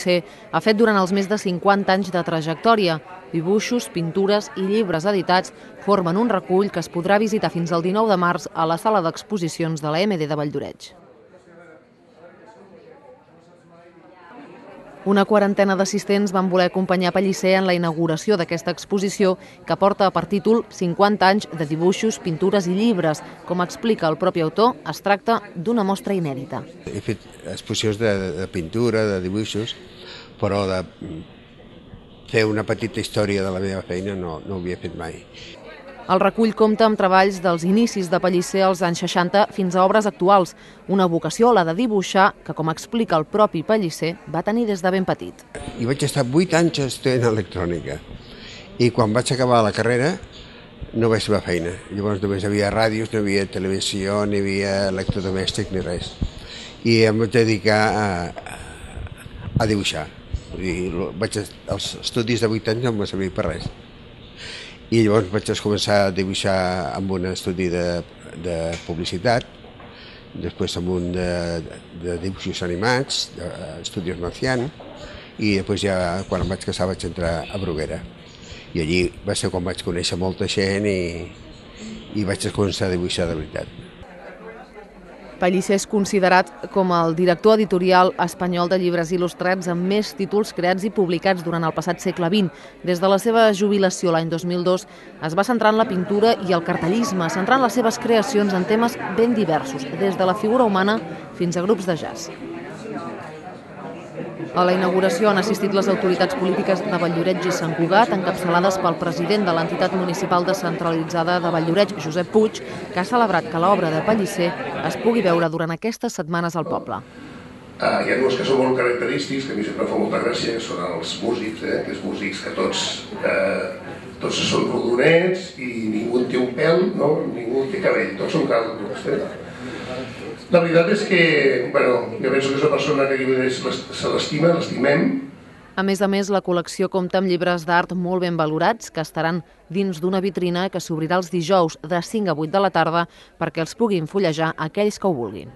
Pellicer ha fet durant els més de 50 anys de trajectòria. Dibuixos, pintures i llibres editats formen un recull que es podrà visitar fins al 19 de març a la sala d'exposicions de la MD de Valldoreix. Una quarantena d'assistents van voler acompanyar Pellicer en la inauguració d'aquesta exposició que porta per títol 50 anys de dibuixos, pintures i llibres. Com explica el propi autor, es tracta d'una mostra inèdita. He fet exposicions de pintura, de dibuixos, però de fer una petita història de la meva feina no ho havia fet mai. El recull compta amb treballs dels inicis de Pellicer als anys 60 fins a obres actuals, una vocació, la de dibuixar, que, com explica el propi Pellicer, va tenir des de ben petit. I vaig estar 8 anys estudiant electrònica i quan vaig acabar la carrera no vaig trobar feina. Llavors només hi havia ràdios, no hi havia televisió, ni hi havia electrodomèstic ni res. I em vaig dedicar a dibuixar. Els estudis de 8 anys no em va servir per res. I llavors vaig començar a dibuixar amb un estudi de publicitat, després amb un de dibuixos animats, d'Estudios Marcian, i després ja quan em vaig casar vaig entrar a Bruguera. I allí va ser quan vaig conèixer molta gent i vaig començar a dibuixar de veritat. Pellicer és considerat com el director editorial espanyol de llibres il·lustrats amb més títols creats i publicats durant el passat segle XX. Des de la seva jubilació l'any 2002 es va centrar en la pintura i el cartellisme, centrant les seves creacions en temes ben diversos, des de la figura humana fins a grups de jazz. A la inauguració han assistit les autoritats polítiques de Valldoreix i Sant Cugat, encapçalades pel president de l'entitat municipal descentralitzada de Valldoreix, Josep Puig, que ha celebrat que l'obra de Pellicer es pugui veure durant aquestes setmanes al poble. Hi ha dues que són molt característics, que a mi sempre fa molta gràcia, que són els músics, aquests músics que tots són rodonets i ningú té un pèl, ningú té cabell, tots són calbos. La veritat és que, jo penso que és una persona que se l'estima, l'estimem. A més, la col·lecció compta amb llibres d'art molt ben valorats que estaran dins d'una vitrina que s'obrirà els dijous de 5 a 8 de la tarda perquè els puguin fullejar aquells que ho vulguin.